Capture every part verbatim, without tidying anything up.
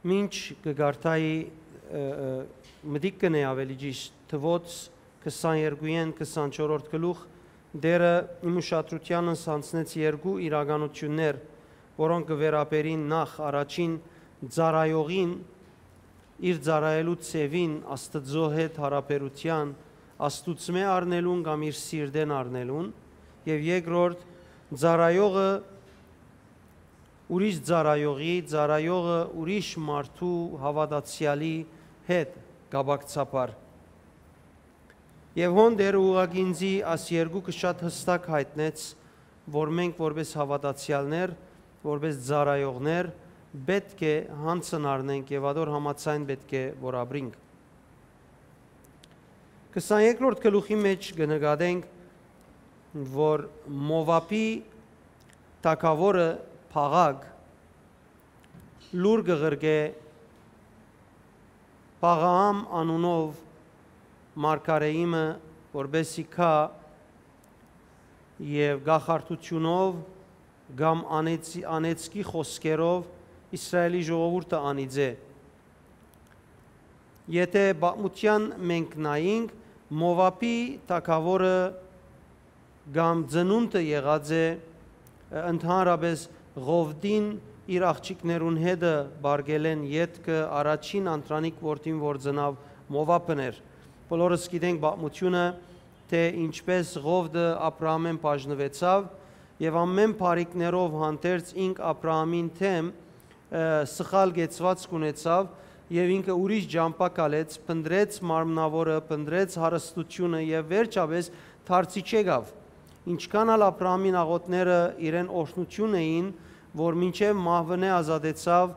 Մինչ կը կարդայի, ը, ը, մտիկ կ'ընէ, աւելի ճիշդ, Թուոց քսաներկուին քսանչորսերորդ գլուխ, Տէրը իմ ուշադրութեանս յանձնեց երկու իրականութիւններ, որոնք կը վերաբերին նախ առաջին ծառայողին, իր ծառայելու ձեւին, Աստուծոյ հետ յարաբերութեան, Աստուծմէ առնելուն կամ իր սիրտէն առնելուն, եւ երկրորդ, ծառայողը ուրիշ ծառայողի, ծառայողը ուրիշ մարդու հաւատացեալի հետ կապակցաբար։ Եւ հոն Տէրը ուղղակի ինծի աս երկուքը շատ յստակ յայտնեց, որ մենք որպէս հաւատացեալներ, որպէս ծառայողներ, պէտք է յանձն առնենք եւ ատոր համաձայն պէտք է որ ապրինք։ Քսաներկրորդ գլուխի մէջ կը նկատենք, որ Մովաբի թագաւորը Բաղակ լուր կը ղրկէ Բաղաամ անունով մարգարէի մը, որպէս զի գայ եւ կախարդութիւնով կամ անեցի-, անեծքի խօսքերով Իսրայէլի ժողովուրդը անիծէ։ Եթէ պատմութեան մենք նայինք, Մովաբի թագաւորը կամ ծնունդը եղած է, ը, ընդհանրապէս Ղովտին իր աղջիկներուն հետը պարգելէն ետքը առաջին անդրանիկ որդին որ ծնաւ Մովաբն էր։ Բոլորս գիտենք պատմութիւնը, թէ ինչպէս Ղովտը Աբրահամէն բաժնուեցաւ եւ ամէն բարիքներով հանդերձ ինք Աբրահամին դէմ, ը, սխալ կեցուածք ունեցաւ եւ ինքը ուրիշ ճամբայ քալեց, փնտռեց մարմնաւորը, փնտռեց հարստութիւնը եւ վերջապէս դարձի չեկաւ։ Ինչքան ալ Աբրահամին աղօթքները իրեն օրհնութիւն էին, որ մինչեւ մահուընէ ազատեցաւ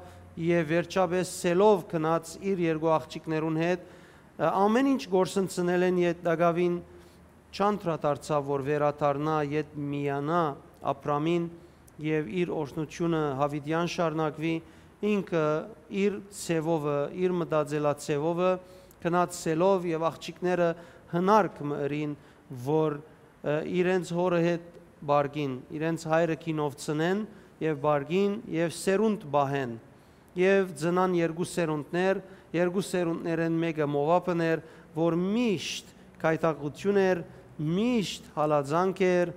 եւ վերջապէս սելով գնաց իր երկու աղջիկներուն հետ, ը, ամէն ինչ կորսնցնել են յետնակաւին չանդրադարձաւ որ վերադառնայ յետ միանայ Աբրամին եւ իր օրհնութիւնը յաւիտեան շարունակուի, ինքը իր ձեւովը, իր մտածելաձեւովը գնաց սելով եւ աղջիկները հնարք մը ըրին, որ, ը, իրենց հօրը հետ պարկին, իրենց հայրը գինով ծնեն եւ պարկին եւ սերունդ պահեն։ Եւ ծնան երկու սերունդներ, երկու սերունդներէն մէկը Մովաբն էր, որ միշտ գայթակղութիւն էր, միշտ հալածանք էր,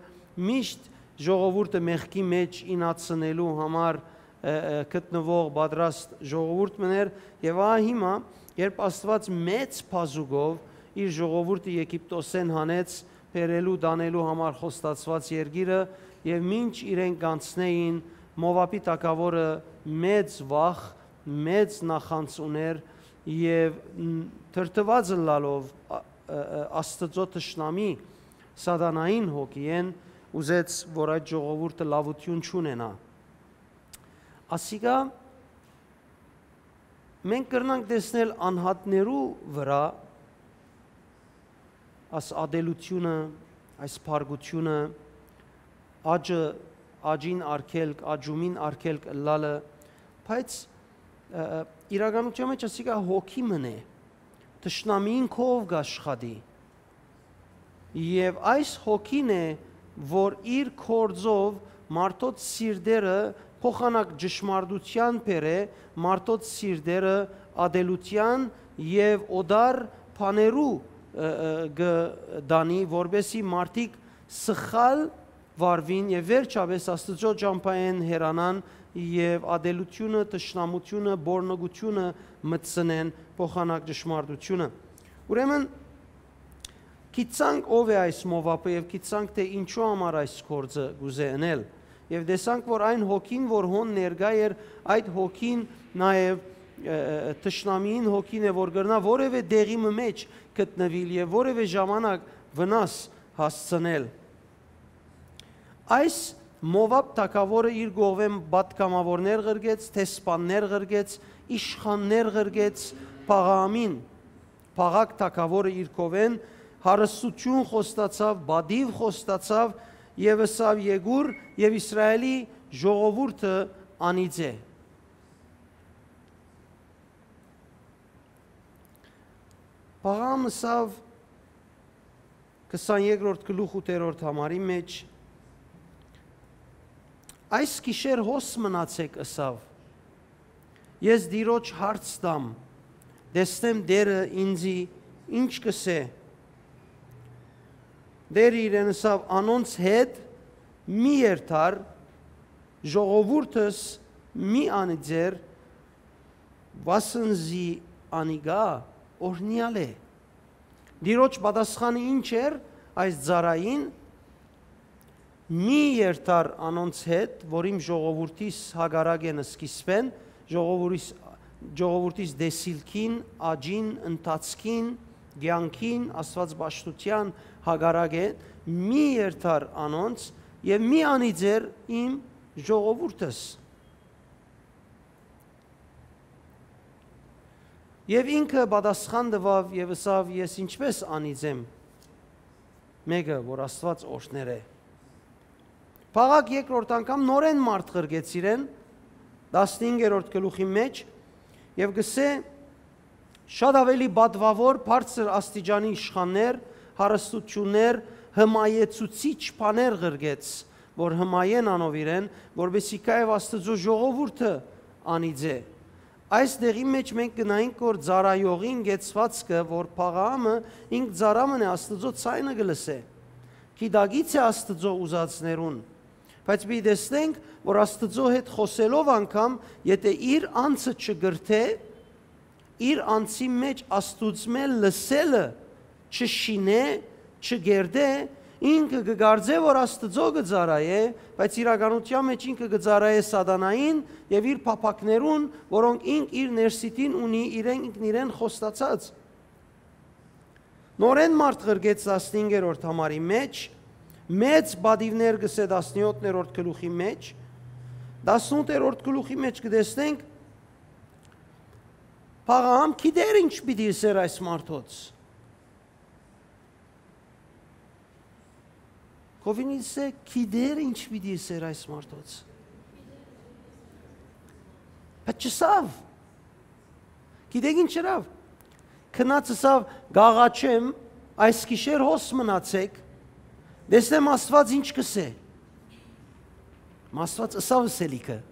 միշտ ժողովուրդը մեղքի մէջ ինացնելու համար, ը, ը, գտնուող պատրաստ ժողովուրդ մըն էր, եւ ահա հիմա, երբ Աստուած մեծ բազուկով իր ժողովուրդը Եգիպտոսէն հանեց, բերելու, տանելու համար խոստացուած երկիրը, եւ մինչ իրենք կանցնէին, Մովաբի թագաւորը մեծ վախ, մեծ նախանձ ունէր եւ, մ, դրդուած ըլլալով, ա, ը, ը, Աստուծոյ թշնամի սատանային հոգիէն ուզեց, որ այդ ժողովուրդը լաւութիւն չունենայ։ Ասիկա մենք կրնանք տեսնել անհատներու վրայ այս ատելութիւնը, այս փառկութիւնը, աճը, աճին արգելք, աճումին արգելք ըլլալը, բայց, ը, ը, իրականության մէջ ասիկա հոգի մըն է, թշնամիին քով կաշխատի։ Եւ այս հոգին է, որ իր գործով մարդոց սիրտերը փոխանակ ճշմարտութեան բերէ, մարդոց սիրտերը ատելութեան եւ օտար բաներու, ը, ը, կը տանի, որպեսզի մարդիկ սխալ վարուին եւ վերջապէս Աստուծոյ ճամբայէն հեռանան եւ ատելութիւնը, թշնամութիւնը, բորնգութիւնը մտցնեն փոխանակ ճշմարտութիւնը։ Ուրեմն, գիտցանք ով է այս Մովաբը եւ գիտցանք թէ ինչու համար այս գործը կուզէ ընել։ Եւ տեսանք, որ այն հոգին, որ հոն ներկայ էր, այդ հոգին նաեւ, ը, ը, թշնամիին հոգին է, որ կրնայ որեւէ տեղի մը մէջ գտնուիլ եւ որեւէ ժամանակ վնաս հասցնել։ Այս Մովաբ թագաւորը իր կողմէն պատգամաւորներ ղրկեց, դեսպաններ ղրկեց, իշխաններ ղրկեց Փաղաամին։ Փաղակ թագաւորը իր կողմէն հարստութիւն խոստացաւ, պատիւ խոստացաւ եւ ըսաւ. «Եկուր եւ Իսրայէլի ժողովուրդը անիծէ»։ Փաղաամ ըսաւ քսաներկրորդ գլուխ ութերորդ համարի մէջ. «Այս գիշեր հոս մնացէք», ըսաւ, Ես Տիրոջ հարց տամ, տեսնեմ Տէրը ինծի ինչ կ'ըսէ։ Տէրը իրեն ըսաւ. «Անոնց հետ մի երթար, ժողովուրդս մի անիծեր, վասն զի անիկա օրհնեալ է»։ Տիրոջ պատասխանը ինչ էր այս ծառային։ «Մի երթար անոնց հետ, որ իմ ժողովուրդիս հակառակ են սկիզբէն, ժողովուրդիս, ժողովուրդիս տեսիլքին, աճին, ընթացքին, կեանքին, Աստուած պաշտութեան հակառակ են, մի երթար անոնց եւ մի անիծեր իմ ժողովուրդս»։ Եւ ինքը պատասխան տուաւ եւ ըսաւ. «Ես ինչպէս անիծեմ մէկը, որ Աստուած օրհներ է»։ Փաղակ երկրորդ անգամ նորէն մարդ ղրկեց իրեն, տասնհինգերորդ գլուխի մէջ, եւ կ'ըսէ. «Շատ աւելի պատուաւոր, բարձր աստիճանի իշխաններ, հարստություններ, հմայեցուցիչ բաներ ղրկեց, որ հմայեն անով իրեն, որպեսզի գայ եւ Աստուծոյ ժողովուրդը անիծէ»։ Այս տեղի մէջ մենք կնայինք, որ ծառայողին կեցուածքը, որ փաղամը ինք ծառայ մըն է, Աստուծոյ ցայնը կը լսէ, գիտակից է Աստուծոյ ուզածներուն, բայց պիտի տեսնենք, որ Աստուծոյ հետ խօսելով անգամ, եթէ իր անձը չկրթէ, իր անձի մէջ Աստուծմէ լսելը չշինէ, չկերտէ, ինքը կը կարծէ, որ Աստուծոյ կը ծառայէ, բայց իրականութեան մէջ ինքը կը ծառայէ սատանային եւ իր փափաքներուն, որոնք ինք իր ներսիդին ունի, իրեն ինքնիրեն խոստացած։ Նորէն մարդ ղրկեց տասնհինգերորդ համարի մէջ, մեծ պատիւներ կ'ըսէ տասնեօթերորդ գլուխի մէջ, տասնութերորդ գլուխի մէջ կը տեսնենք, Փաղաամ գիտեր ինչ պիտի ըսէր այս մարդոց։ Քովինիցը գիտեր ինչ պիտի ըսէր այս մարդոց։ Բայց չըսաւ։ Գիտեք ինչ ըրաւ։ Գնաց ըսաւ. «Կ'աղաչեմ, այս գիշեր հոս մնացէք, տեսնեմ Աստուած ինչ կ'ըսէ»։ Մը Աստուած ըսաւ ըսելիքը.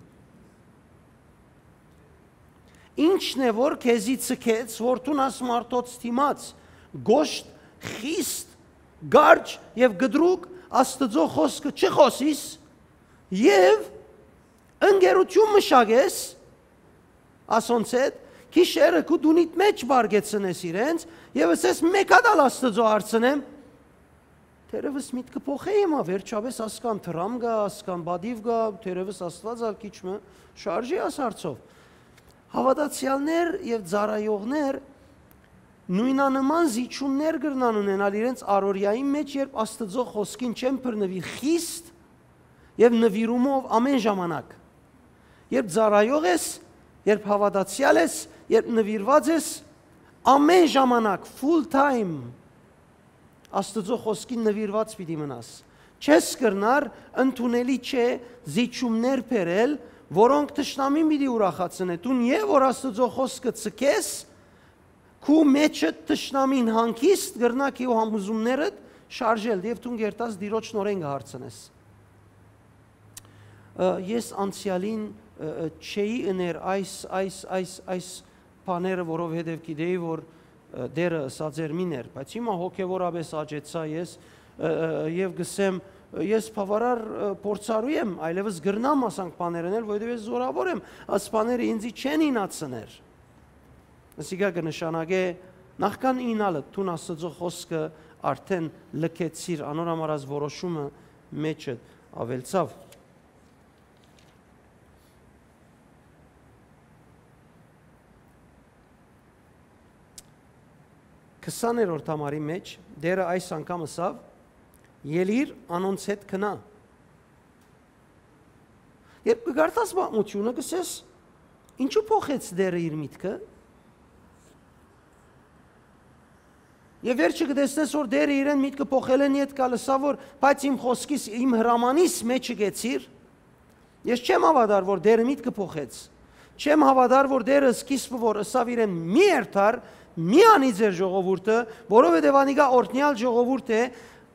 «Ի՞նչն է որ քեզի ցկեց, որ դուն աս մարդոց դիմաց գոշտ, խիստ, կարճ եւ կտրուկ Աստուծոյ խօսքը չխօսիս եւ ընկերութիւն մշակես ասոնց հետ, գիշերը քու տունիդ մէջ պառկեցնես իրենց եւ ըսես. "Մէկ հատ ալ Աստուծոյ հարցնեմ"։ Թերեւս միտքը փոխէ հիմա, վերջապէս ասկան դրամ կայ, ասկան պատիւ կայ, թերեւս Աստուած ալ քիչ մը շարժի աս հարցով։ Հաւատացեալներ եւ ծառայողներ նոյնանման զիջումներ կրնան ունենալ իրենց առօրեային մէջ, երբ Աստուծոյ խօսքին չեն բռնուիր խիստ եւ նուիրումով ամէն ժամանակ։ Երբ ծառայող ես, երբ հաւատացեալ ես, երբ նուիրուած ես, ամէն ժամանակ, full time, Աստուծոյ խօսքին նուիրուած պիտի մնաս։ Չես կրնար, ընդունելի չէ զիջումներ բերել, որոնք թշնամին պիտի ուրախացնէ։ Դուն եւ որ Աստուծոյ խօսքը ցկես, քու մէջդ թշնամին հանգիստ կրնայ քեու համոզումներդ շարժել, եւ դուն կերտաս Տիրոջ նորէն կը հարցնես։ Ը, ես անցեալին, ը, ը, չէի ըներ այս, այս, այս, այս բաները, որովհետեւ գիտեի, որ, ը, Տէրը ըսած էր՝ «Մի ներ»։ Բայց հիմա հոգեւորապէս աճեցայ ես, ը, ը, եւ կ'ըսեմ, ը, ես բաւարար, ը, փորձառու եմ, այլեւս կրնամ ասանք բաներ ընել, որովհետեւ ես զօրաւոր եմ, աս բաները ինծի չեն իյնացներ։ Ասիկա կը նշանակէ, նախքան իյնալը, դուն Աստուծոյ խօսքը արդէն լքեցիր, անոր համար աս որոշումը մէջդ աւելցաւ։ Քսաներորդ համարի մէջ Տէրը այս անգամ ըսաւ. "Ելիր, անոնց հետ գնա"։ Երբ կը կարդաս պատմութիւնը, կ'ըսես. "Ինչու փոխեց Տէրը իր միտքը"։ Եւ վերջը կը տեսնես, որ Տէրը իրեն միտքը փոխելէն ետք ալ ըսաւ, որ. "Բայց իմ խօսքիս, իմ հրամանիս մէջը գեցիր"։ Ես չեմ հաւատար, որ Տէրը միտքը փոխեց։ Չեմ հաւատար, որ Տէրը սկիզբը որ ըսաւ իրեն՝ "Մի երթար, մի անիծեր ժողովուրդը, որովհետեւ անիկա օրհնեալ ժողովուրդ է",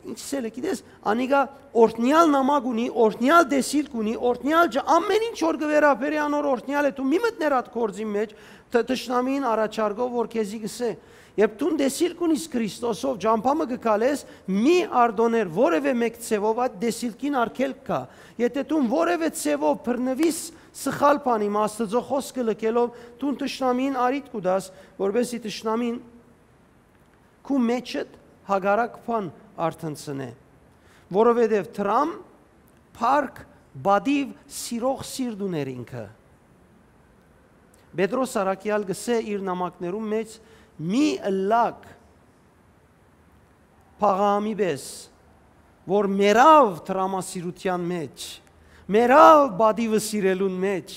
Ինչ սելը, գիտես, անիկա օրհնեալ նամակ ունի, օրհնեալ տեսիլք ունի, օրհնեալ ջ-, ամեն ինչ որ կը վերաբերի անոր օրհնեալ է, դու մի մտներ այդ գործին մեջ, տ-, թշնամին առաջարկով որ քեզի գսե։ Երբ դուն տեսիլք ունիս Քրիստոսով, ճամբայ մը կը քալես, մի արտոնհեր որևէ մէկ ձևով այդ տեսիլքին արգելք կայ։ Եթէ դուն որևէ ձևով բռնուիս սխալ բանի մը, Աստուծոյ խօսքը լքելով, դուն թշնամին առիթ կու տաս, որպեսզի թշնամին քու մեջդ հակառակ բան արթնցնէ, որովհետեւ դրամ, փառք, պատիւ, սիրող սիրտ ուներ ինքը։ Պետրոս առաքեալ կ'ըսէ իր նամակներուն մէջ. «Մի ըլլաք Փաղահամի պէս, որ մեռաւ դրամասիրութեան մէջ, մեռաւ պատիւը սիրելուն մէջ»։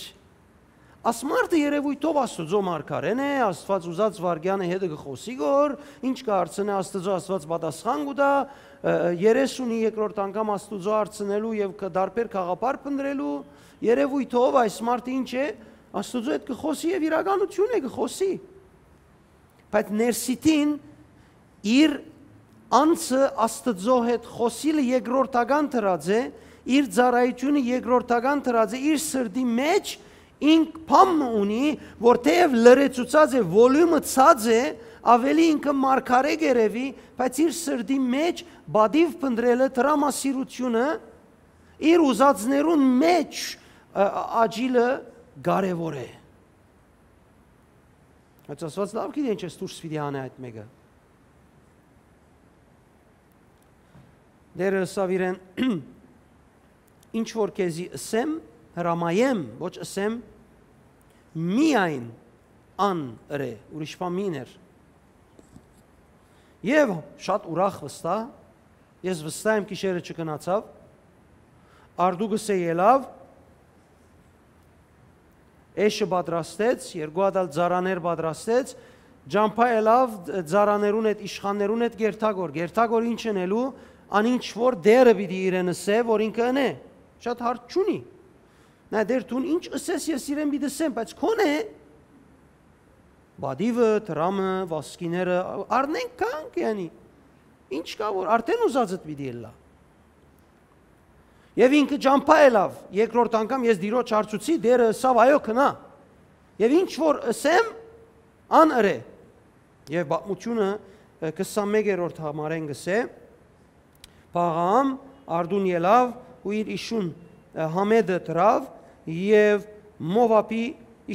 Աս մարդը երեւոյթով Աստուծոյ մարգարէն է, Աստուած ուզած վայրկեանը հետը կը խօսի գոր, ինչ կը հարցնէ Աստուծոյ, Աստուած պատասխան կու տայ, ը, երեսունի երկրորդ անգամ Աստուծոյ հարցնելու եւ կը դարբեր գաղափար փնտռելու, երեւոյթով այս մարդը ինչ է, Աստուծոյ հետ կը խօսի եւ իրականութիւն է, կը խօսի։ Բայց ներսիդին իր անձը Աստուծոյ հետ խօսիլը երկրորդական դրած է, իր ծառայութիւնը երկրորդական դրած է, իր սրտի մէջ ինք բան մը ունի, որ թէեւ լրացուցած է, volume-ը ցած է, աւելի ինքը մարգարէ կ'երեւի, բայց իր սրտի մէջ պատիւ փնտռելը, դրամասիրութիւնը, իր ուզածներուն մէջ, ը, ը, աճիլը կարեւոր է։ Բայց Աստուած լաւ գիտէ ինչ ես դուրս պիտի անե այդ մէկը։ Տէրը ըսաւ իրեն. «Ինչ որ քեզի ըսեմ, հրամայեմ, ոչ ըսեմ, միայն ան ըրէ, ուրիշ բան մի ըրէ»։ Եւ շատ ուրախ վստահ, ես վստահ եմ գիշերը չքնացաւ, արդուկս է ելաւ, էշը պատրաստեց, երկու հատ ալ ծառաներ պատրաստեց, ճամբայ ելաւ, ծառաներուն հետ, իշխաններուն հետ գերթագոր։ Գերթագոր ինչ ընելու, ան ինչ որ Տէրը պիտի իրեն ըսէ, որ ինքը ընէ։ Շատ հարց չունի։ Նայ, Տէր, դուն ինչ ըսես, ես իրեն պիտի ըսեմ, բայց քոնէ պատիւը, դրամը, վասկիները, առնենք, գանք, յանի, ինչ կայ որ, արդեն ուզածդ պիտի ըլլայ։ Եւ ինքը ճամբայ ելաւ, երկրորդ անգամ ես Տիրոջ հարցուցի, Տէրը ըսաւ. «Այո, գնա»։ Եւ ինչ որ ըսեմ, ան ըրէ։ Եւ պատմութիւնը, ը, քսանմէկերորդ համարէն կ'ըսէ. Փաղահամ արդուն ելաւ ու իր իշուն, ը, Համեդը դրաւ եւ Մովաբի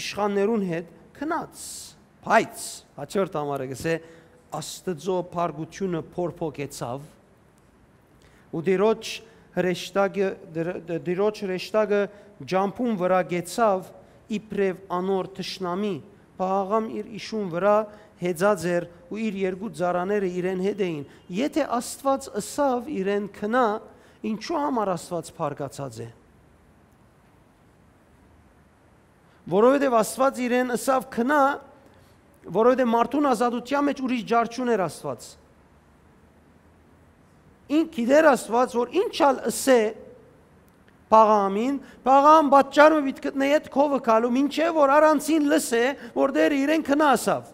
իշխաններուն հետ գնաց։ Բայց հաջորդ համարը կ'ըսէ. Աստուծոյ փառքութիւնը փորփոքեցաւ, ու Տիրոջ հրեշտակը, Տիր-, Տիրոջ հրեշտակը ճամբուն վրայ կեցաւ իբրեւ անոր թշնամի, Փաղահամ իր իշուն վրայ հեծած էր ու իր երկու ծառաները իրեն հետ էին։ Եթէ Աստուած ըսաւ իրեն. «Գնա», ինչո՞ւ համար Աստուած փառկացած է։ Որովհետեւ Աստուած իրեն ըսաւ. «Գնա», որովհետեւ մարդուն ազատութեան մէջ ուրիշ ջար չունէր Աստուած։ Ինք գիտեր Աստուած, որ ինչ ալ ըսէ Փաղահամին, Փաղահամ պատճառ մը պիտի գտնէ յետ քովը գալու, մինչեւ որ առանցին լսէ, որ Տէրը իրեն գնա ըսաւ։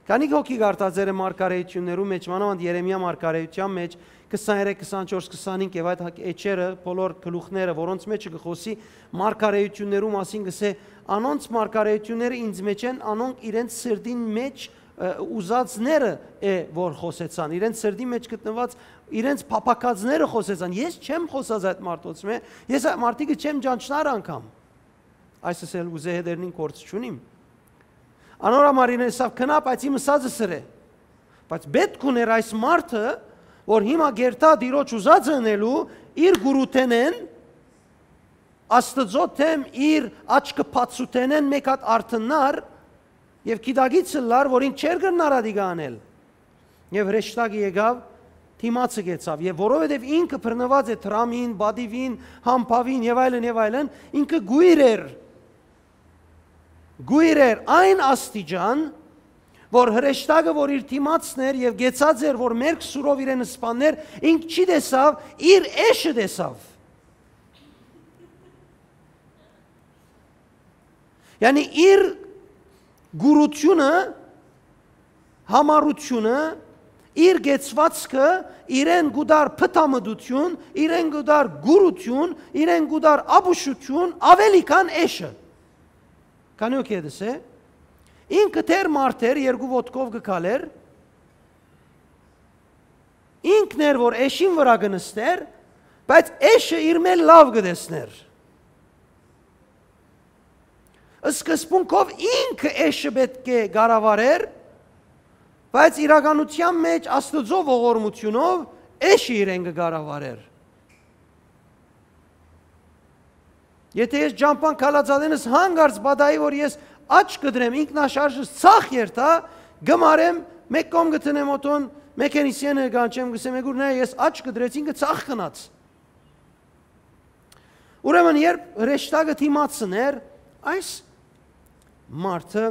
Քանի՞ հոգի կարդացեր է մարգարեութիւններու մէջ, մանաւանդ Երեմիա մարգարեութեան մէջ, քսաներեք, քսանչորս, քսանինգ եւ այդ հակ-, էջերը, բոլոր գլուխները, որոնց մէջը կը խօսի մարգարեութիւններու մասին, կ'ըսէ. «Անոնց մարգարեութիւնները ինձ մէջ են, անոնք իրենց սրտին մէջ, ը, ուզածները է, որ խօսեցան, իրենց սրտին մէջ գտնուած, իրենց փափաքածները խօսեցան»։ Ես չեմ խօսած այդ մարդոց մէ, ես այդ մարդիկը չեմ ճանչնար անգամ։ Այսս էլ ուզե հետերնին գործ չունիմ։ Անոր համար իրեն ըսաւ. «Գնա, բայց իմ ըսածս ըրէ»։ Բայց պէտք ուներ այս մարդը, որ հիմա գերթայ Տիրոջ ուզածը ընելու, իր գուրութենէն, Աստուծոյ դէմ իր աչքը բացութենէն մէկ հատ արթննար եւ գիտակից ըլլար, որ ինք չէր կրնար ատիկա անել։ Եւ հրեշտակը եկաւ, դիմացը կեցաւ, եւ որովհետեւ ինքը բռնուած է դրամին, պատիւին, համբաւին եւ այլն եւ այլն, ինքը գոյր էր, գոյր էր այն աստիճան, որ հրեշտակը, որ իր դիմացն էր եւ կեցած էր, որ մերկ սուրով իրեն սպաններ, ինք չի տեսաւ, իր էշը տեսաւ։ Յանի իր գուրութիւնը, համառութիւնը, իր կեցուածքը իրեն կու տար փթամտություն, իրեն կու տար կուրություն, իրեն կու տար ապուշություն աւելի քան էշը։ Քանի օքեյ դսե, ինքը դեռ մարդ էր, երկու ոտքով կը քալեր, ինքն էր, որ էշին վրայ կը նստեր, բայց էշը իր մէջ լաւ կը տեսներ։ Սկզբունքով ինքը էշը պէտք է կառավարէր, բայց իրականութեան մէջ Աստուծոյ ողորմութիւնով էշը իրեն կը կառավարէր։ Եթէ ես ճամբան քալած ատենս, հանկարծ պատահի, որ ես աջ կը դրեմ, ինքնաշարժս ցախ երթայ, կը մարեմ, մէկ կողմ կը դնեմ օթոյ, մեքենիսիենը կանչեմ, կ'ըսեմ, «Եգուր, նայ, ես աջ կը դրեցի, ինքը ցախ գնաց»։ Ուրեմն, երբ հրեշտակը դիմացն էր, այս մարդը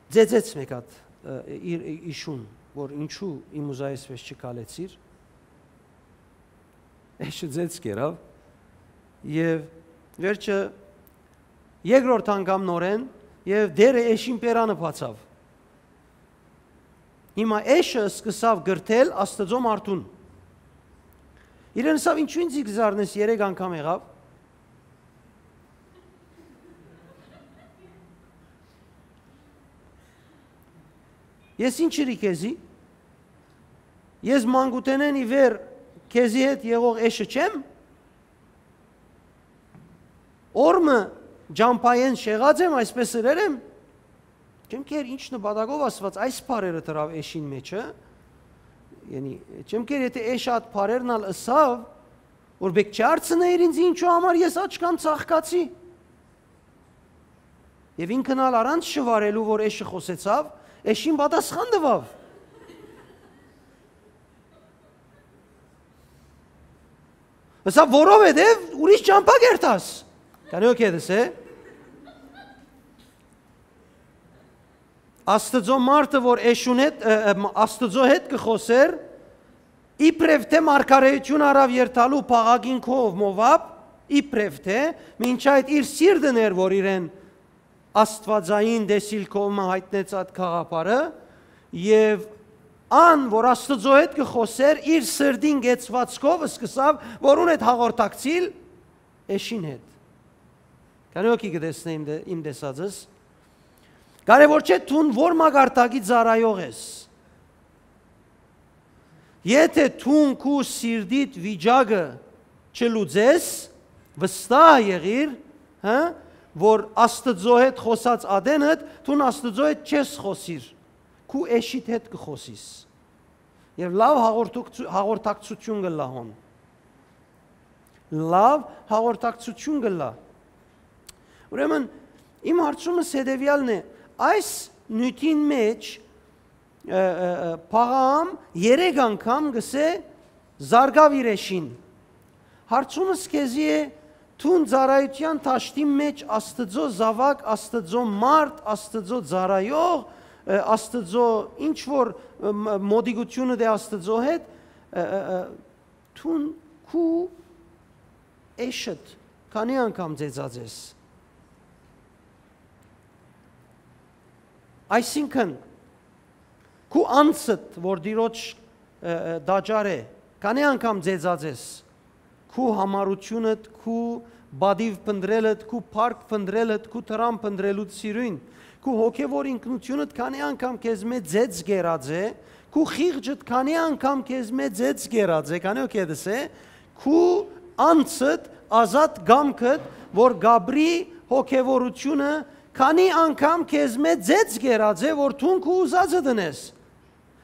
ծեծեց մէկ հատ, ը, իր, իր իշուն, որ ինչու իմ ուզայ այսպէս չքալեցիր, էշը ծեծ կերաւ, եւ վերջը երկրորդ անգամ նորէն, եւ դերը էշին բերանը բացաւ։ Հիմա էշը սկսաւ կրթել Աստուծոյ մարդուն։ Իրեն ըսաւ, «Ինչու ինձի կը զարնես, երեք անգամ եղաւ»։ Ես ինչ ըրի քեզի։ Ես մանկութենէն ի վեր քեզի հետ եղող էշը չեմ։ Օր մը ճամբայէն շեղած եմ, այսպէս ըրեր եմ։ Չեմ քեր ինչ նպատակով Աստուած այս բառերը դրաւ էշին մէջը։ Յանի, չեմ քեր, եթէ էշը այդ բառերն ալ ըսաւ, որ պէտք չի հարցնէիր ինձ, ինչու համար ես աչքամ ծաղկացի։ Եւ ինքն ալ առանց շվարելու, որ էշը խօսեցաւ, էշին պատասխան տուաւ։ Ըսաւ, որովհետեւ ուրիշ ճամբայ կերթաս։ Քանի օքեյ դսե։ Աստուծոյ մարդը, որ էշուն հետ, ը, ը, Աստուծոյ հետ կը խօսէր, իբրեւ թէ մարգարէութիւն առաւ երթալու փաղագին քով Մովաբ, իբրեւ թէ, մինչ այդ իր սիրտն էր, որ իրեն աստուածային տեսիլքով մը յայտնեց այդ գաղափարը, եւ ան, որ Աստուծոյ հետ կը խօսէր, իր սրտին կեցուածքով սկսաւ, որուն հետ հաղորդակցիլ, էշին հետ։ Քանի օքեյ կը տեսնէ իմ տե-, իմ տեսածս։ Կարեւոր չէ դուն որ մակարդակի ծառայող ես։ Եթէ դուն քու սիրտիդ վիճակը չլուծես, վստահ եղիր, հը, որ Աստուծոյ հետ խօսած ատենդ, դուն Աստուծոյ հետ չես խօսիր, քու էշիդ հետ կը խօսիս։ Եւ լաւ հաղորդակցու-, հաղորդակցութիւն կ'ըլլայ հոն։ Լաւ հաղորդակցութիւն կ'ըլլայ։ Ուրեմն, իմ հարցումս հետեւեալն է. այս նիւթին մէջ, ը, ը, ը, Փաղաամ երեք անգամ կ'ըսէ, զարկաւ իր էշին։ Հարցումս քեզի է, դուն ծառայութեան դաշտին մէջ Աստուծոյ զաւակ, Աստուծոյ մարդ, Աստուծոյ ծառայող, ը, Աստուծոյ ինչ որ, ը, մ-, մոտիկութիւնդ է Աստուծոյ հետ, ը, ը, ը, դուն քու էշդ քանի՞ անգամ ծեծած ես։ Այսինքն, քու անձդ, որ Տիրոջ, ը, ը, տաճար է, քանի՞ անգամ ծեծած ես, քու յամառութիւնդ, քու պատիւ փնտռելդ, քու փառք փնտռելդ, քու դրամ փնտռելուդ սիրուն, քու հոգեվոր ինքնութիւնդ քանի՞ անգամ քեզմէ ծեծ կերած է, քու խիղճդ քանի՞ անգամ քեզմէ ծեծ կերած է, քանի՞ օքեյ դսե, քու անձդ, ազատ կամքդ, որ կապրի հոգեվորութիւնը, քանի՞ անգամ քեզմէ ծեծ կերած է, որ դուն քու ուզածդ ընես։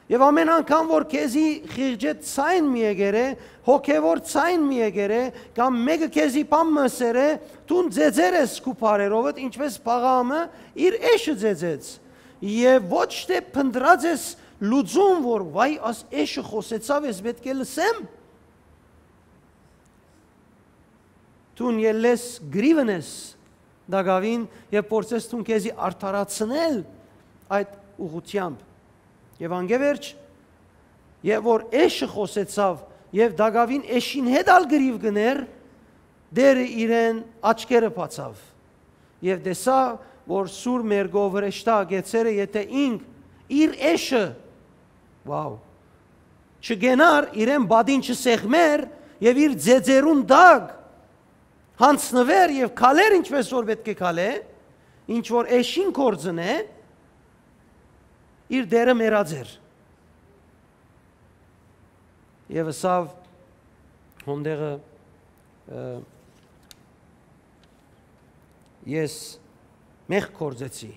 Եւ ամէն անգամ, որ քեզի խիղճէ ձայն մը եկեր է, հոգեվոր ձայն մը եկեր է, կամ մէկը քեզի բան մը ըսեր է, դուն ծեծեր ես քու բառերովդ, ինչպէս Փաղաամը իր էշը ծեծեց։ Եւ ոչ թէ փնտռած ես լուծում, որ վայ, աս էշը խօսեցաւ, ես պէտք է լսեմ։ Դուն ելլես գրիվն ես տակաւին եւ փորձես դուն քեզի արդարացնել այդ ուղղությամբ։ Եւ անկէ վերջ, եւ որ էշը խօսեցաւ եւ տակաւին էշին հետ ալ գրիվ գներ, Տէրը իրեն աչքերը բացաւ եւ տեսաւ, որ սուր մերկով հրեշտակ գեցերը, եթէ ինք իր էշը, վաու, չգենար, իրեն պատին չսեղմեր եւ իր ձեձերուն տակ յանձնուէր եւ քալէր, ինչպէս որ պէտք է քալէ, ինչ որ էշին կորձն է, իր Տէրը մեռած էր։ Եւ ըսաւ հոն տեղը, ը, «Ես մեղք գործեցի»։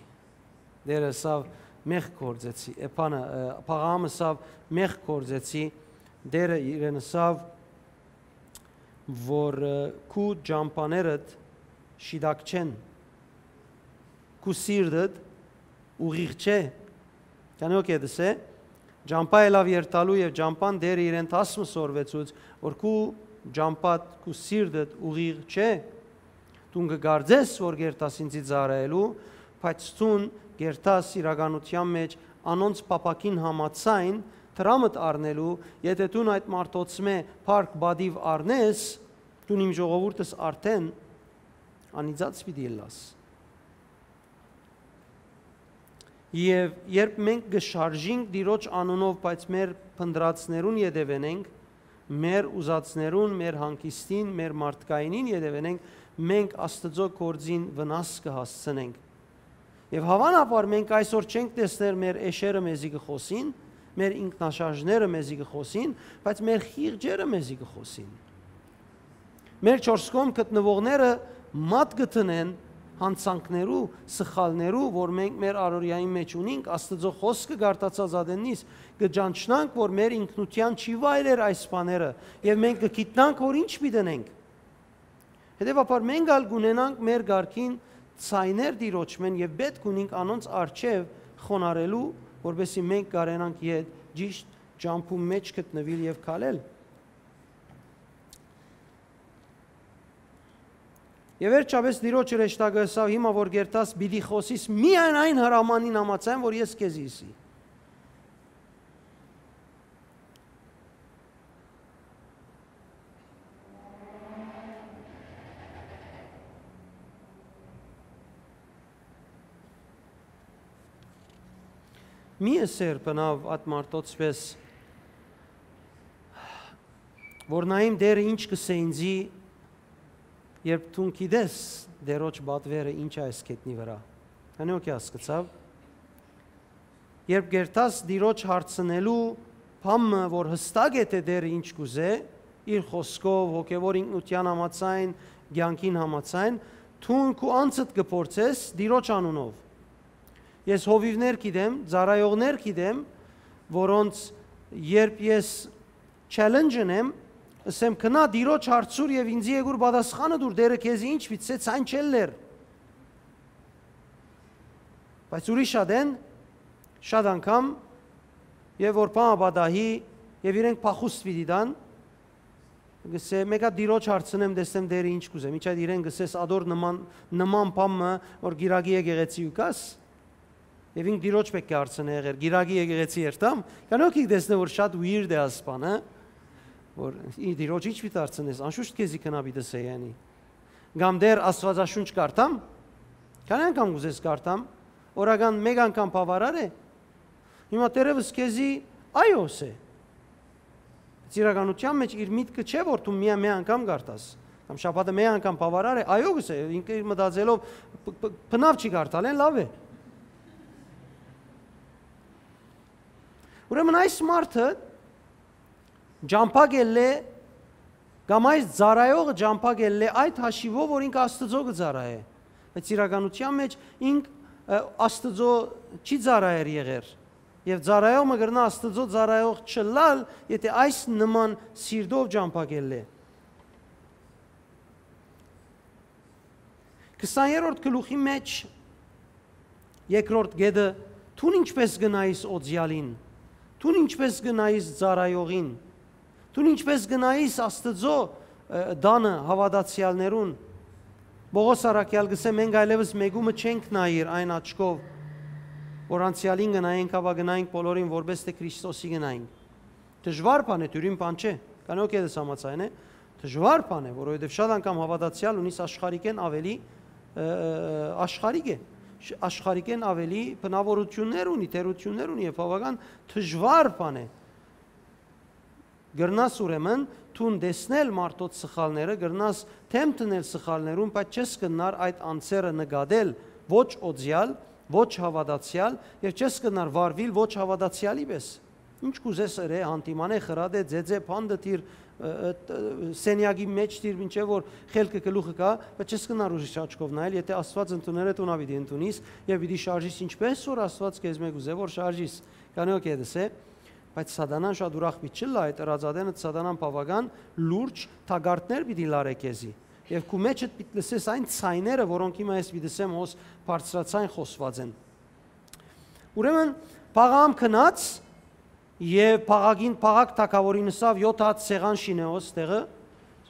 Տէրը ըսաւ, «Մեղք գործեցի»։ Էփանը, ը, Փաղահամը ըսաւ, «Մեղք գործեցի»։ Տէրը իրեն ըսաւ, որ, ը, քու ճամբաներդ շիտակ չեն, քու սիրտդ ուղիղ չէ։ Քանի օ կետս է, ճամբայ ելաւ երթալու եւ ճամբան Տէրը իրեն դաս մը սորվեցուց, որ քու ճամբադ, քու սիրտդ ուղիղ չէ։ Դուն կը կարծես, որ կերտաս ինծի ծառայելու, բայց դուն կերտաս իրականութեան մէջ անոնց փափաքին համաձայն դրամդ առնելու, եթէ դուն այդ մարդոցմէ փառք պատիւ առնես, դուն իմ ժողովուրդս արդէն անիծած պիտի ըլլաս։ Եւ երբ մենք կը շարժինք Տիրոջ անունով, բայց մեր փնտռածներուն ետեւեն ենք, մեր ուզածներուն, մեր հանգիստին, մեր մարդկայինին ետեւեն ենք, մենք Աստուծոյ գործին վնաս կը հասցնենք։ Եւ հաւանաբար մենք այսօր չենք տեսներ մեր էշերը մեզի կը խօսին, մեր ինքնաշարժները մեզի կը խօսին, բայց մեր խիղճերը մեզի կը խօսին։ Մեր չորս կողմ գտնուողները մատ կը դնեն յանցանքներու, սխալներու, որ մենք մեր առօրեային մէջ ունինք, Աստուծոյ խօսքը կարդացած ատեննից կը ճանչնանք, որ մեր ինքնութեան չի վայելեր այս բաները, եւ մենք կը գիտնանք, որ ինչ պիտի ընենք։ Հետեւաբար մենք ալ կունենանք մեր կարգին ձայներ Տիրոջմէն եւ պէտք ունինք անոնց առջեւ խոնարհելու, որպեսզի մենք կարենանք ետ ճիշդ ճամբուն մէջ գտնուիլ եւ քալել։ Եւ վերջապէս Տիրոջ հրեշտակը ըսաւ. «Հիմա որ կերտաս, պիտի խօսիս միայն այն հրամանին համաձայն, որ ես քեզի ըսի»։ Մի ըսեր բնաւ այդ մարդոց պէս, որ նայեմ Տէրը ինչ կ'ըսէ ինծի, երբ դուն գիտես Տիրոջ պատուերը ինչ է այս գետնի վրայ։ Քանի օ կի հասկցաւ։ Երբ կերտաս Տիրոջ հարցնելու բան մը, որ յստակ է, թէ Տէրը ինչ կ'ուզէ, իր խօսքով, հոգեւոր ինքնութեան համաձայն, կեանքին համաձայն, դուն քու անձդ կը փորձես Տիրոջ անունով։ Ես հովիւներ գիտեմ, ծառայողներ գիտեմ, որոնց երբ ես challenge ընեմ, ըսեմ, «Գնա Տիրոջ հարցուր եւ ինձի եկուր պատասխանը տուր, Տէրը քեզի ինչ պիտի ըսէ, ցայն չելլեր»։ Բայց ուրիշ ատեն, շատ անգամ, եւ որ բան պատահի, եւ իրենք փախուստ պիտի տան, կ'ըսէ, «Մէկա Տիրոջ հարցնեմ, տեսնեմ Տէրը ինչ կ'ուզէ»։ Մինչ այդ իրեն կ'ըսես ադոր նման, նման բան մը, որ Կիրակի եկեղեցի ու կաս, եւ ինք Տիրոջ պէտք է հարցնէ եղեր, Կիրակի եկեղեցի երթամ, քանի օ կի տեսնէ, որ շատ weird է այս բանը, որ ի Տիրոջ ինչ պիտի հարցնես, անշուշտ քեզի գնա պիտի ըսէ, յանի։ Կամ Տէր, Աստուածաշունչ կարդամ, քանի անգամ կ'ուզես կարդամ, օրական մէկ անգամ բաւարար է, հիմա թերեւս քեզի այո ըսէ։ Բայց իրականութեան մէջ իր միտքը չէ, որ դու միայն մի անգամ կարդաս, կամ շաբաթը մի անգամ բաւարար է, այո կ'ըսէ, ինքը իր մտածելով բ-, բ-, բնաւ չի կարդալ, են լաւ է։ Ուրեմն այս մարդը ճամբա կ'ելլէ, կամ այս ծառայողը ճամբա կ'ելլէ այդ հաշիվով, որ ինքը Աստուծոյ կը ծառայէ։ Բայց իրականութեան մէջ ինք, ը, Աստուծոյ չի ծառայեր եղեր։ Եւ ծառայող մը կրնայ Աստուծոյ ծառայող չըլլալ, եթէ այս նման սիրտով ճամբա կ'ելլէ։ Քսաներորդ գլուխի մէջ երկրորդ կետը, դուն ինչպէս կը նայիս օծեալին, դուն ինչպէս կը նայիս ծառայողին, դուն ինչպէս կը նայիս Աստուծոյ, ը, տանը հաւատացեալներուն։ Պողոս առաքեալ կ'ըսէ, մենք այլեւս մէկումը չենք նայիր այն աչքով, որ անցեալին կը նայենք, հապա կը նայենք բոլորին, որպէս թէ Քրիստոսի կը նայենք։ Դժուար բան է, դիւրին բան չէ, քանի օ կետս համաձայն է, Դժուար բան է, որովհետեւ շատ անգամ հաւատացեալ ունիս աշխարհիկէն աւելի, ը, ը, ը, աշխարհիկ է, շ-, աշխարհիկէն աւելի բնաւորութիւններ ունի, թերութիւններ ունի եւ բաւական դժուար բան է։ Կրնաս ուրեմն դուն տեսնել մարդոց սխալները, կրնաս դէմ դնել սխալներուն, բայց չես կրնար այդ անձերը նկատել ոչ օծեալ, ոչ հաւատացեալ եւ չես կրնար վարուիլ ոչ հաւատացեալի պէս։ Ինչ կ'ուզես ըրէ, յանդիմանէ, խրատէ, ձեձէ, բան դտիր, ը, ը, տ-, սենեակի մէջ դիր, մինչեւ որ խելքը գլուխը գայ, բայց չես կրնար ուրիշ աչքով նայել, եթէ Աստուած ընդուներ է, դուն ալ պիտի ընդունիս եւ պիտի շարժիս, ինչպէս որ Աստուած քեզմէ կ'ուզէ որ շարժիս։ Քանի օքեյ դսե, բայց Սատանան շատ ուրախ պիտի չըլլայ, այդ ըրած ատենը Սատանան բաւական լուրջ թակարդներ պիտի լարէ քեզի։ Եւ քու մէջդ պիտի լսես այն ձայները, որոնք հիմա ես պիտի լսեմ, հոս բարձրաձայն խօսուած են։ Ուրեմն, Փաղաամ գնաց եւ Փաղագին, Փաղագ թագաւորին ըսաւ. «Եօթ հատ սեղան շինէ հոս տեղը»։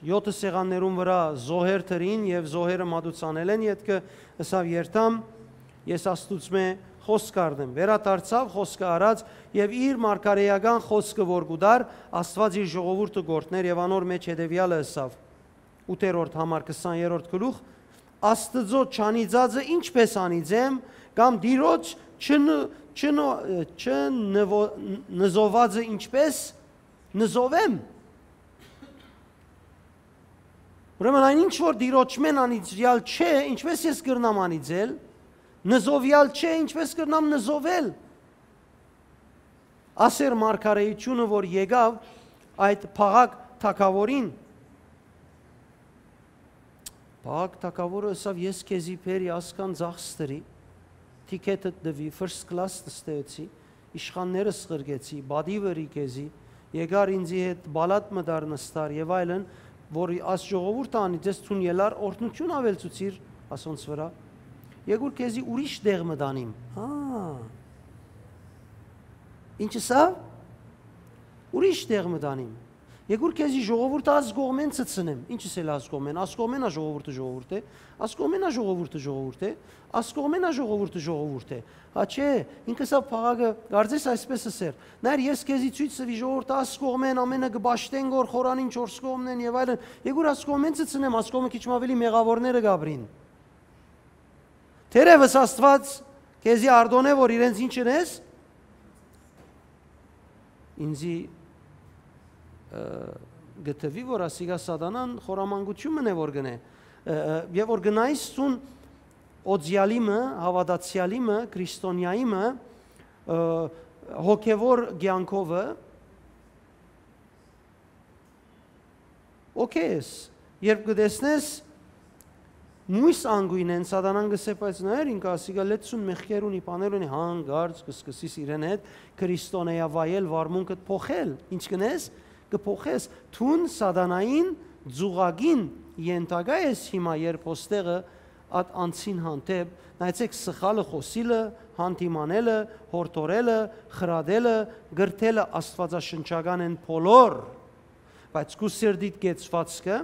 Եօթը սեղաններուն վրայ զոհեր դրին եւ զոհերը մատուցանել են, ետքը ըսաւ. «Երթամ, ես Աստուծմէ խօսք առնեմ»։ Վերադարձաւ, խօսքը առած եւ իր մարգարէական խօսքը որ կու տար, Աստուած իր ժողովուրդը կ'օրհնէր եւ անոր մէջ հետեւեալը ըսաւ, ութերորդ համար, քսաներորդ գլուխ. «Աստուծոյ չանիծածը ինչպէս անիծեմ, կամ Տիրոջ չն-, չնո-, չնվո-, նզովածը ինչպէս նզովեմ»։ Ուրեմն այն ինչ որ Տիրոջմէն անիծեալ չէ, ինչպէս ես կրնամ անիծել, նզովեալ չէ, ինչպէս կրնամ նզովել։ Ասեր մարգարեությունը որ եկաւ այդ Փաղագ թագաւորին, Փաղագ թագաւորը ըսաւ. «Ես քեզի բերի ասկան ձախ ստրի, թիքեթդ տուի, first class նստեցի, իշխաններս ղրկեցի, պատիվ ըրի քեզի, եկար ինծի հետ պալատ մտար նստար եւ այլն, որ աս ժողովուրդը անիծես, դուն ելար օրհնութիւն աւելցուցիր ասոնց վրայ։ Եկուր քեզի ուրիշ տեղ մտանիմ»։ Հա։ Ինչ ըսաւ։ «Ուրիշ տեղ մտանիմ։ Եկուր քեզի ժողովուրդը աս կողմէն ցցնեմ»։ Ինչ ըսել աս կողմէն։ Աս կողմէն ա ժողովուրդը, ժողովուրդ է։ Աս կողմէն ա ժողովուրդը, ժողովուրդ է։ Աս կողմէն ա ժողովուրդը, ժողովուրդ է։ Հա չէ, ինքը սա Փաղագը կարծես այսպես ըսեր. «Նայր, ես քեզի ցոյց տուի ժողովուրդը, աս կողմէն ամենը կը պաշտեն գոր խորանին չորս կողմնեն եւ այլն։ Եկուր աս կողմէն ցցնեմ, աս կողմը քիչ մը աւելի մեղաւորները կ'ապրին»։ Թերեւս Աստուած քեզի արտօնէ որ իրենց ինչ ընես, ինձի, ը, գտվի որ ասիկա Սատանան խորամանկութիւն մնե որ գնե, ը, ը, եւ որ գնայս ցուն օծեալի մը, հաւատացեալի մը, քրիստոնեայի մը, ը, հոգեվոր կեանքովը, օքեյ ես, երբ կը տեսնես, մոյս անգույնեն Սատանան կ'ըսէ. «Բայց նայեր, ինքը ասիկա լեցուն մեղքեր ունի, բաներ ունի»։ Հանկարծ կը սկսիս իրեն հետ քրիստոնեայ վայել, վարմունքդ փոխել։ Ինչ կ'ընես, կը փոխես։ Դուն Սատանային ձուղակին ենթակայ ես հիմա, երբ հոստեղը ատ անցին հանդէպ, նայեցեք, սխալը խօսիլը, հանդիմանելը, հորդորելը, խրատելը, կրթելը աստուածաշնչական են բոլոր, բայց քու սրտիդ կեցվածքը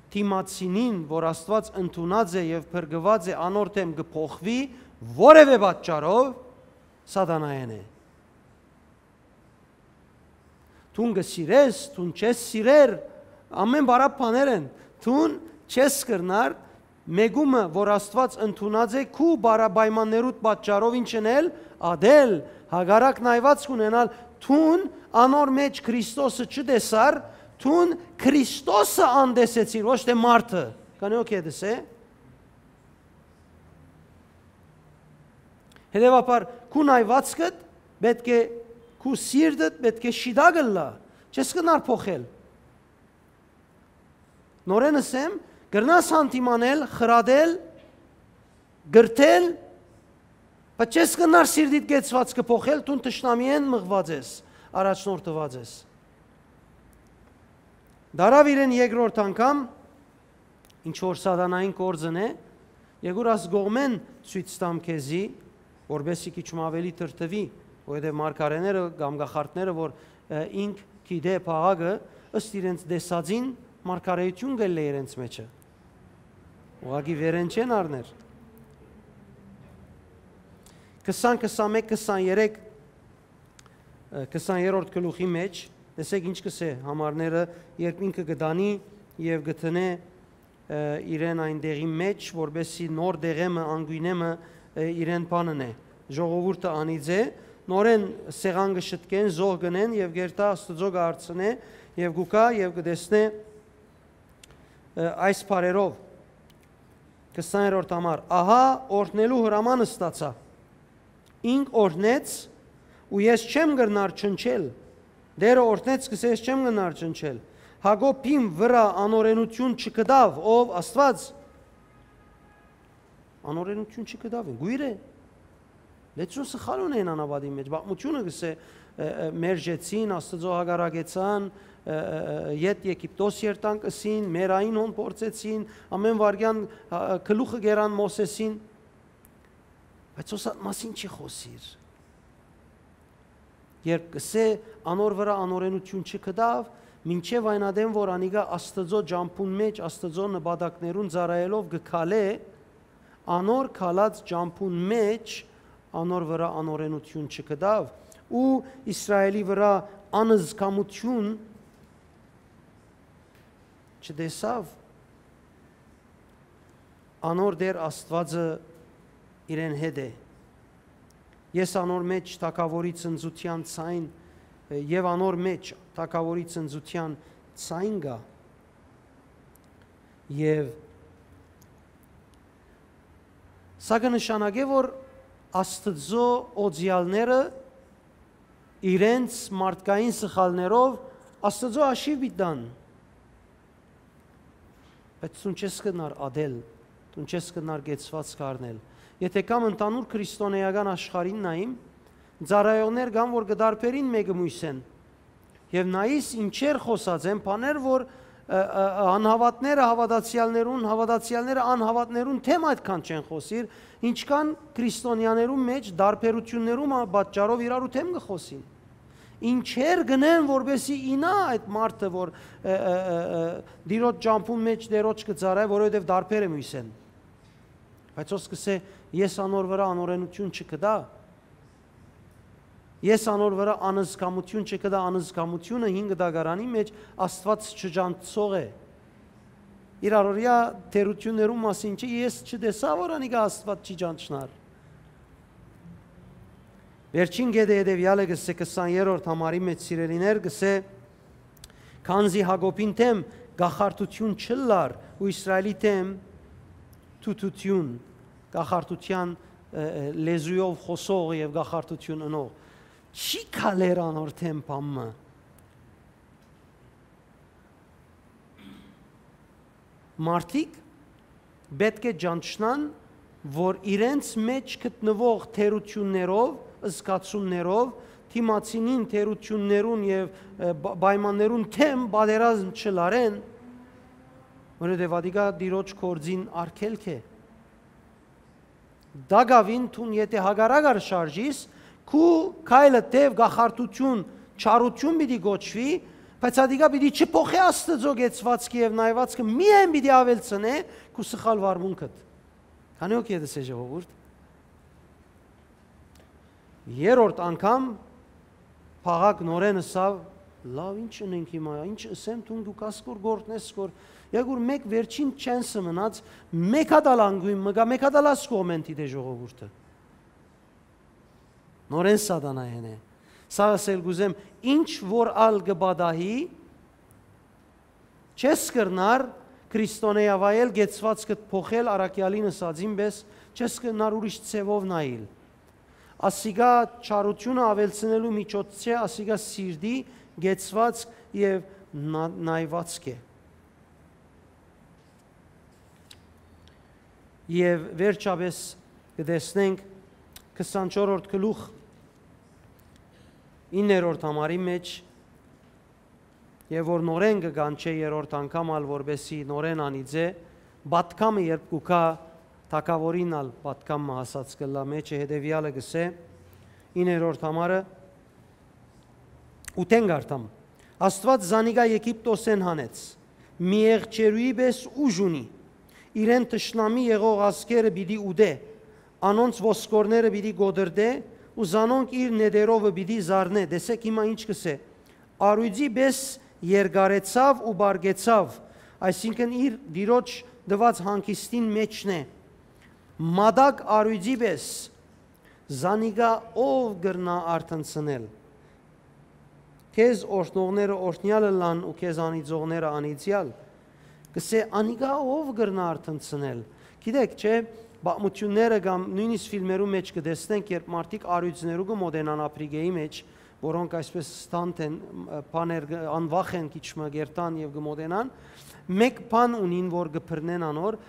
դիմացինին, որ Աստուած ընդունած է եւ փրկուած է, անոր դէմ կը փոխուի որեւէ պատճառով, Սատանայէն է։ Դուն կը սիրես, դուն չես սիրեր, ամեն բարապ բաներ են։ Դուն չես կրնար մեկումը, որ Աստուած ընդունած է, քու բարապայմաններուդ պատճառով ինչ ընել, ատել, հակառակն այված կունենալ, դուն անոր մեջ Քրիստոսը չտեսար, դուն Քրիստոսը անտեսեցիր, ոչ թե մարդը։ Կանեոք հետս է։ Հետևաբար, քու նայվածքդ պէտք է, քու սիրտդ պէտք է շիտակ ըլլայ, չես կրնար փոխել։ Նորեն ըսեմ, կրնաս հանդիմանել, խրատել, կրթել, բայց չես կրնար սիրտիդ կեցվածքը փոխել, դուն թշնամիէն մղուած ես, առաջնորդուած ես։ Դարաւ իրեն երկրորդ անգամ, ինչ որ Սատանային գործն է, եկուր աս կողմեն ցոյց տամ քեզի, որպեսզի քիչ մը աւելի դրդվի, որովհետեւ մարգարեները կամ կախարդները, որ, ը, ինք գիտէ փաղակը, ըստ իրենց տեսածին, մարգարեություն կ'ելլէ իրենց մեջը։ Ուղղակի վերեն չեն առներ։ Քսան, քսանմէկ, քսաներեք, ը, քսաներորդ գլուխի մեջ, Տեսեք ինչ կ'ըսէ համարները, երբ ինքը կը տանի եւ կը դնէ, ը, իրեն այն տեղին մէջ, որպէսզի նոր դեղեմը, անգոյնեմը, ը, իրեն բանն է, ժողովուրդը անիծէ, նորէն սեղան կը շտկեն, զոհ կ'ընեն եւ գերտայ Աստուծոյ կը հարցնէ եւ կու գայ եւ կը տեսնէ, ը, այս բառերով, քսաներորդ համար, ահա օրհնելու հրաման ստացայ։ Ինք օրհնեց ու ես չեմ կրնար չնչել։ Դերը օրհնեց, կ'ըսէ, ես չեմ կրնար չնչել։ Յակոբին վրայ անօրենութիւն չգտաւ, ով Աստուած։ Անօրենութիւն չգտաւ, գոյր է։ Լեցուն սխալ ունէին անապատին մէջ։ Պատմութիւնը կ'ըսէ, ը, ը, մերժեցին, Աստուծոյ հակառակեցան, ը, ը, ը, ետ Եգիպտոս երթանք ըսին, մեռային հոն փորձեցին, ամէն վայրկեան, ը, ը, գլուխը կերան Մովսէսին։ Բայց հոս այդ մասին չի խօսիր։ Երբ կ'ըսէ, անոր վրայ անօրենութիւն չգտաւ, մինչեւ այն ատեն որ անիկա Աստուծոյ ճամբուն մէջ, Աստուծոյ նպատակներուն ծառայելով կը քալէ, անոր քալած ճամբուն մէջ անոր վրայ անօրենութիւն չգտաւ ու Իսրայէլի վրայ անզգամութիւն չտեսաւ, անոր Տէր Աստուածը իրեն հետ է։ Ես անոր մէջ թագաւորի ծնծութեան ցայն, ը, եւ անոր մէջ թագաւորի ծնծութեան ցայն կայ։ Եւ սա կը նշանակէ, որ Աստուծոյ օծեալները իրենց մարդկային սխալներով Աստուծոյ հաշիւ պիտի տան։ Բայց դուն չես կրնար ատել, դուն չես կրնար կեցուածք առնել։ Եթէ կամ ընդհանուր քրիստոնէական աշխարհին նայիմ, ծառայողներ կան, որ կը տարբերին մէկը մոյսէն։ Եւ նայիս, ինչեր խօսած են, բաներ, որ, ը, ը, ը, անհաւատները հաւատացեալներուն, հաւատացեալները անհաւատներուն դէմ այդքան չեն խօսիր, ինչքան քրիստոնեաներուն մէջ տարբերութիւններու մը պատճառով իրարու դէմ կը խօսին։ Ինչեր կ'ընեն, որպէսզի ինայ այդ մարդը, որ, ը, ը, ը, ը, Տիրոջ ճամբուն մէջ Տիրոջ կը ծառայ, որովհետեւ տարբեր է մոյսէն։ Բայց հոս կ'ըսէ, ես անոր վրայ անօրենութիւն չգտայ։ Ես անոր վրայ անզգամութիւն չգտայ, անզգամութիւնը հին կտակարանի մէջ Աստուած չճանչցող է։ Իր առօրեայ թերութիւններուն մասին չի, ես չտեսայ, որ անիկա Աստուած չի ճանչնար։ Վերջին կետը հետեւեալը կ'ըսէ քսաներորդ համարի մէջ, սիրելիներ, կ'ըսէ, քանզի Յակոբին դէմ կախարդութիւն չըլլար ու Իսրայէլի դէմ թութութիւն, կախարդութեան, ը, ը, լեզուով խօսող եւ կախարդութիւն ընող, չի քալեր անոր դէմ բան մը։ Մարդիկ պէտք է ճանչնան, որ իրենց մէջ գտնուող թերութիւններով, զգացումներով, դիմացինին թերութիւններուն եւ, ը, պ-, պայմաններուն դէմ պատերազմ չլարեն, որովհետեւ ատիկա Տիրոջ գործին արգելք է։ Տակաւին դուն եթէ հակառակ ար շարժիս, քու քայլը թէ կախարդութիւն, չարութիւն պիտի կոչուի, բայց ատիկա պիտի չփոխէ Աստուծոյ կեցուածքը եւ նայուածքը, միայն պիտի աւելցնէ քու սխալ վարմունքդ։ Քանի՞ հոգի է դսե, ժողովուրդ։ Երրորդ անգամ Փաղակ նորէն ըսաւ, լավ, ի՞նչ ընենք հիմա, ի՞նչ ըսեմ, դուն դու կաս կոր գործնես կոր, եկուր մեկ վերջին չենսը մնաց, մեկ հատ ալ անգույն մը գայ, մեկ հատ ալ աս կողմեն դիտէ ժողովուրդը։ Նորէն սատանայէն է։ Սա ըսել կ'ուզեմ, ինչ որ ալ կը պատահի, չես կրնար քրիստոնեայ վայել, կեցուածքդ փոխել, առաքեալին ըսածին պէս, չես կրնար ուրիշ ձևով նայիլ։ Ասիկա չարութիւնը աւելցնելու միջոց չէ, ասիկա սիրտի կեցուածք եւ նա-, նայուածք է։ Եւ վերջապէս կը տեսնենք քսանչորրորդ գլուխ, իններորդ համարի մէջ, եւ որ նորէն կը կանչէ երրորդ անգամ ալ, որպէսզի նորէն անիծէ, պատգամը երբ կու գայ, թագաւորին ալ պատգամ մը հասած կ'ըլլայ, մէջը հետեւեալը կ'ըսէ, իններորդ համարը, ութէն կարդամ. Աստուած զանիկա Եգիպտոսէն հանեց, մի եղջերուի պէս ուժ ունի, իրեն թշնամի եղող ազգերը պիտի ուտէ, անոնց ոսկորները պիտի կոտրտէ ու զանոնք իր նետերովը պիտի զարնէ։ Տեսէք հիմա ինչ կ'ըսէ. Արոյցի պէս երկարեցաւ ու պարկեցաւ, այսինքն՝ իր Տիրոջ տուած հանգիստին մէջն է։ Մատակ արոյցի պէս, զանիկա ո՞վ կրնայ արթնցնել։ Քեզ օրհնողները օրհնեալ ըլլան ու քեզ անիծողները անիծեալ։ Կ'ըսէ, անիկա ո՞վ կրնայ արթնցնել։ Գիտեք, չէ՞, պատմութիւնները կամ նոյնիսկ ֆիլմերու մէջ կը տեսնենք, երբ մարդիկ արոյցներու կը մօտենան Ափրիկէի մէջ, որոնք այսպէս սթանթ են, մ, բաներ կը, անվախ են քիչ մը կ'երթան եւ կը մօտենան, մէկ բան ունին, որ կը բռնեն անոր,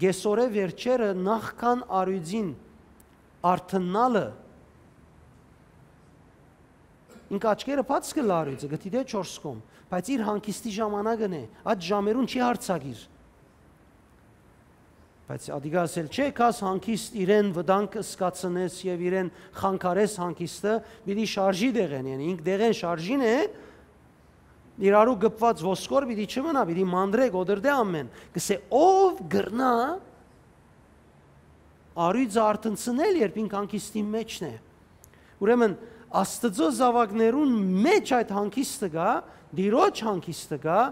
կեսօրէ վերջերը նախքան արոյցին արթննալը, ինք աչքերը բաց կը լարուի, կը դիտէ չորս կողմ, բայց իր հանգիստի ժամանակն է, այդ ժամերուն չի յարցակիր։ Բայց ադիկա ասել չէ, կաս հանգիստ իրեն վտանգ զգացնես եւ իրեն խանգարես հանգիստը, պիտի շարժի դեղեն, յանի ինք դեղեն շարժին է, իրարու գպված ոսկոր պիտի չմնայ, պիտի մանրէ, կոտրտէ ամէն։ Կ'ըսէ, ո՞վ կրնայ արոյցը արթնցնել, երբ ինք հանգիստին մէջն է։ Ուրեմն, Աստուծոյ զաւակներուն մէջ այդ հանգիստը կայ, Տիրոջ հանգիստը կայ,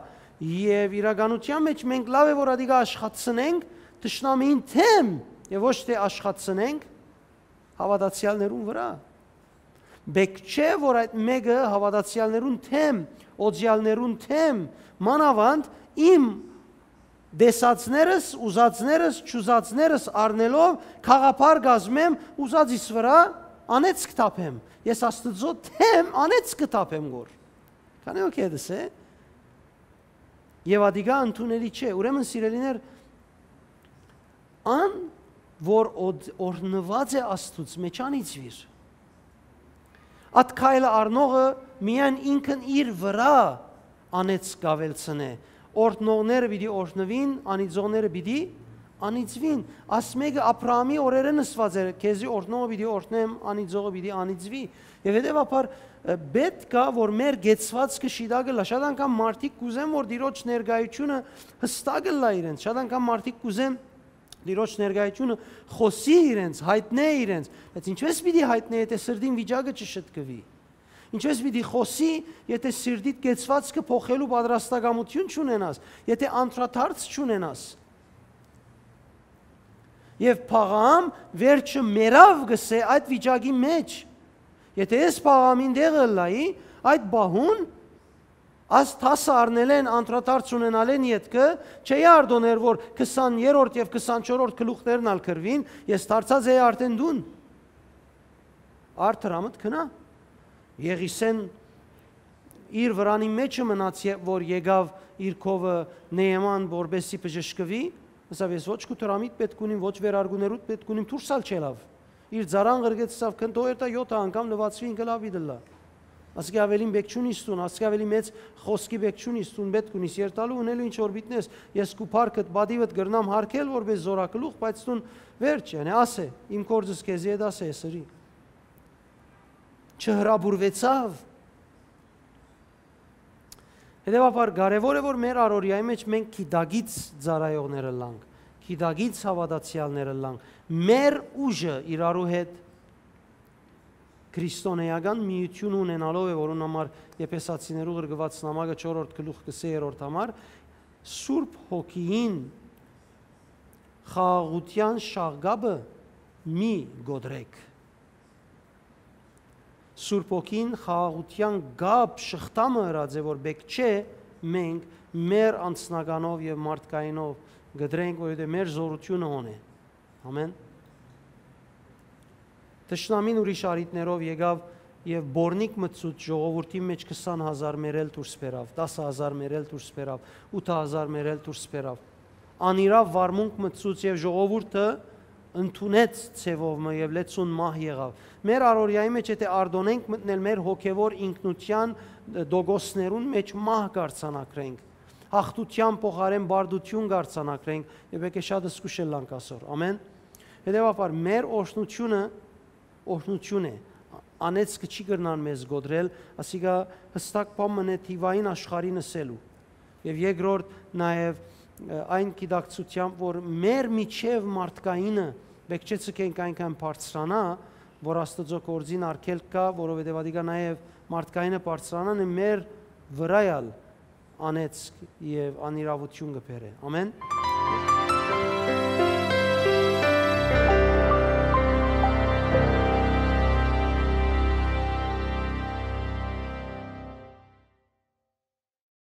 եւ իրականութեան մէջ մենք լաւ է որ ադիկա աշխատցնենք թշնամիին դէմ եւ ոչ թէ աշխատցնենք հաւատացեալներուն վրայ։ Պէտք չէ որ այդ մէկը հաւատացեալներուն դէմ, օծեալներուն դէմ, մանաւանդ իմ տեսածներս, ուզածներս, չուզածներս առնելով գաղափար կազմեմ, ուզածիս վրայ անեծք թափեմ։ Ես Աստուծոյ դէմ անեծք կը թափեմ գոր։ Քանի օքեյ դս է։ Եւ ադիկա ընդունելի չէ։ Ուրեմն, սիրելիներ, ան որ օդ-, օրհնուած է Աստուծոյ, մէջ անիծուիր։ Այդ քայլը առնողը միայն ինքն իր վրայ անեծք կ'աւելցնէ։ Օրհնողները պիտի օրհնուին, անիծողները պիտի անիծուին։ Աս մէկը Աբրահամի օրերէն ըսուած էր, քեզի օրհնողը պիտի օրհնեմ, անիծողը պիտի անիծուի։ Եւ հետեւաբար, ը, պէտք է որ մեր կեցվածքը շիտակ ըլլայ։ Շատ անգամ մարդիկ կ'ուզեն որ Տիրոջ ներկայությունը յստակ ըլլայ իրենց։ Շատ անգամ մարդիկ կ'ուզեն Տիրոջ ներկայությունը խօսի իրենց, յայտնէ իրենց, բայց ինչպէս պիտի յայտնէ, եթէ սրտին վիճակը չշտկուի։ Ինչպէս պիտի խօսի, եթէ սիրտիդ կեցվածքը փոխելու պատրաստակամութիւն չունենաս, եթէ անդրադարձ չունենաս։ Եւ Փաղաամ վերջը մեռաւ, կ'ըսէ, այդ վիճակի մէջ։ Եթէ ես Փաղաամին տեղը ըլլայի, այդ պահուն, աս դասը առնելէն, անդրադարձ ունենալէն ետքը, չէի արտոներ որ քսաներորդ եւ քսանչորսերորդ գլուխներն ալ գրուին, ես դարձած էի արդէն դուն։ Արդ Հրամդ գնա։ Եղիսէն իր վրանի մէջը մնաց, երբ որ եկաւ իր քովը Նեեման, որպեսզի բժշկուի, ըսաւ, ես ոչ քու դրամիդ պէտք ունիմ, ոչ վերարկուներուդ պէտք ունիմ, դուրս ալ չելաւ։ Իր ծառան ղրկեց, ըսաւ, քնտո երթայ յոթ անգամ լուացուի, ինքը լաւ պիտի ըլլայ։ Ասկէ ավելին պէտք չունիս դուն, ասկէ ավելի մեծ խօսքի պէտք չունիս դուն, պէտք ունիս երթալու, ունելու ինչ որ պիտնես, ես քու փառքդ, պատիվդ կրնամ հարգել որպես զօրակլուխ, բայց դուն վերջ, յանի ասէ, իմ գործս քեզի հետ ասէ, սրի։ Չհրապուրուեցաւ։ Հետեւաբար կարեւոր է որ մեր առօրեայի մէջ մենք գիտակից ծառայողներ ըլլանք, գիտակից հաւատացեալներ ըլլանք, մեր ուժը իրարու հետ քրիստոնեական միութիւն ունենալով է, որուն համար Եփեսացիներու ղրկուած նամակը չորրորդ գլուխ կը սերորդ համար, Սուրբ Հոգիին խաղաղութեան շաղկապը մի կոտրեք։ Սուրբ Հոգին խաղաղութեան կապ շղթամը ըրած է, որ պէտք չէ մենք մեր անձնականով եւ մարդկայինով կտրենք, որովհետեւ մեր զորութիւնը հոն է։ Ամեն։ Թշնամին ուրիշ առիթներով եկաւ եւ բորնիկ մտցուց ժողովուրդի մէջ քսան հազար մեռել դուրս բերաւ, տասը հազար մեռել դուրս բերաւ, ութը հազար մեռել դուրս բերաv։ Անիրաւ վարմունք մտցուց եւ ժողովուրդը ընդունեց ձևով մը եւ լեցուն մահ եղաւ։ Մեր առօրեայի մէջ եթէ արտոնենք մտնել մեր հոգեվոր ինքնության դոգոսներուն մէջ, մահ կարձանագրենք, հաղթության փոխարեն բարդություն կարձանագրենք եւ եկե շատ զգուշ ըլլանք ասոր։ Ամեն։ Հետեւաբար մեր օրհնությունը օրհնություն է, անեծքը չի կրնան մեզ գոդրել, ասիկա հստակ բան մնե թիվային աշխարհին ըսելու։ Եւ երկրորդ, նաեւ, ը, այն գիտակցությամբ, որ մեր միջև մարդկայինը պէտք չէ ցկենք այնքան բարձրանայ, որ Աստուծոյ գործին արգելք կայ, որովհետեւ ադիկա նաեւ մարդկայինը բարձրանան է մեր վրայ ալ անեծք եւ անիրաւութիւն կը բերէ։ Ամեն։